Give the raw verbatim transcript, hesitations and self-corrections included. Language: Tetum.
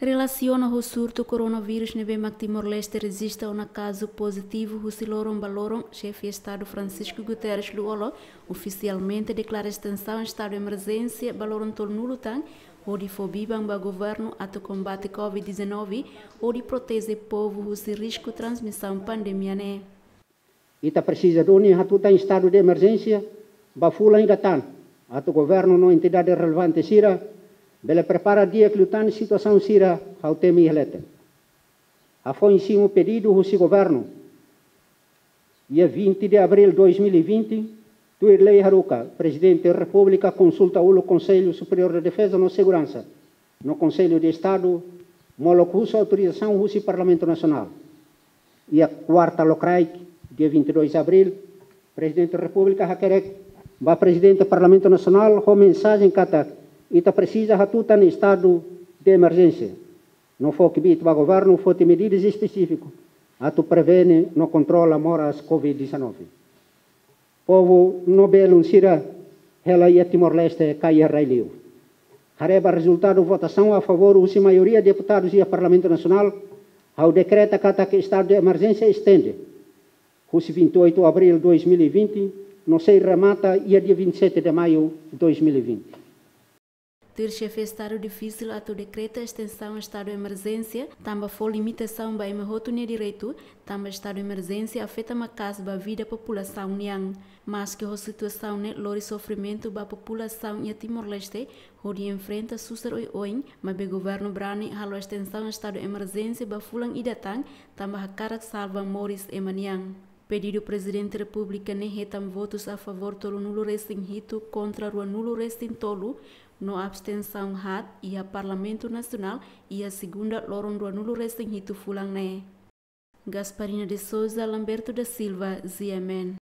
Relasiona ho surtu koronavírus ne'ebé mak Timor-Leste rejista ona kazu pozitivu husi loron ba loron, Xefe Estadu Francisco Guterres Lú-Olo ofisialmente deklara estensaun estadu emerjénsia ba loron tolunulu tan, hodi fó biban ba governu atu kombate covid dezanove, hodi proteje povu husi risku transmisaun pandemia ne'e. Ita presiza duni hatutan estadu de emerjénsia ba fulan ida tan, atu governu no entidade relevante sira bele prepara di'ak liután situasaun sira, ha'u temi iha leten. Hafoin simu pedidu husi governu, dia vinte de abril dois mil e vinte, tuir lei haruka, Prezidente Repúblika konsulta uluk Konsellu Superiór de Defeza no Seguransa, no Konsellu de Estadu, molok husu autorizasaun husi Parlamentu Nasionál. Iha kuarta lokraik, dia vinte e dois abril, Prezidente Repúblika hakerek ba Prezidente Parlamentu Nasionál ho mensajen katak ita presiza hatutan estadu de emerjénsia, no fó kbiit ba governu foti medidas espesífiku atu prevene no kontrola moras covid dezanove. Povu no belun sira, hela iha Timor-Leste ka iha rai-li'ur. Haree ba rezultadu votasaun a favór husi maioria deputadus iha Parlamentu Nasionál, ha'u dekreta katak estadu de emerjénsia estende husi vinte e oito abril dois mil e vinte, no sei remata iha dia vinte e sete de maio dois mil e vinte. Tuir Xefe Estadu, difisil atu dekreta estensaun estadu emerjénsia, tanba fó limitasaun ba ema hotu nia direitu, tanba estadu emerjénsia afeta maka'as ba vida populasaun nian. Maski ho situasaun ne'e lori sofrimentu ba populasaun iha Timor-Leste, hodi enfrenta susar oioin, maibé governu brani halo estensaun estadu emerjénsia ba fulan ida tan, tanba hakarak salva moris ema nian. Pedidu Prezidente Repúblika ne'e hetan votus a favór tolunulu resin hitu kontra ruanulu resin tolu, no abstensaun haat iha Parlamentu Nasionál iha segunda loron ruanulu resin hitu fulan ne'e. Gasparina de Souza, Lamberto da Silva, G M N.